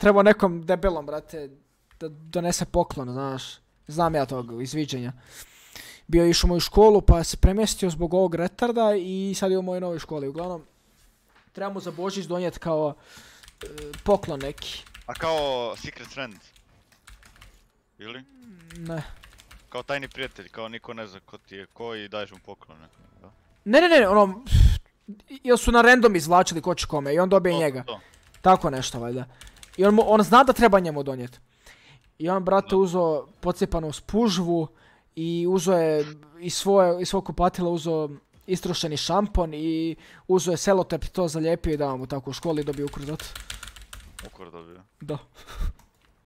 Trebao nekom debelom, brate, da donese poklon, znaš. Znam ja tog izviđenja. Bio je išao u moju školu pa se premjestio zbog ovog retarda i sad je u mojoj novoj školi. Uglavnom, treba mu za Božić donijeti kao poklon neki. A kao secret friend? Ili? Ne. Kao tajni prijatelj, kao niko ne zna ko ti je ko i daješ mu poklone. Da? Ne, ono, ili su na random izvlačili ko će kome i on dobije njega. To. Tako nešto, valjda. I on zna da treba njemu donijeti. I on, brate, uzeo pocijepanu spužvu i uzeo je iz svog kupatila uzeo istrošeni šampon i uzeo je selotep i to zalijepio i dao mu tako u školi i dobio ukur za to. Ukur dobio? Da.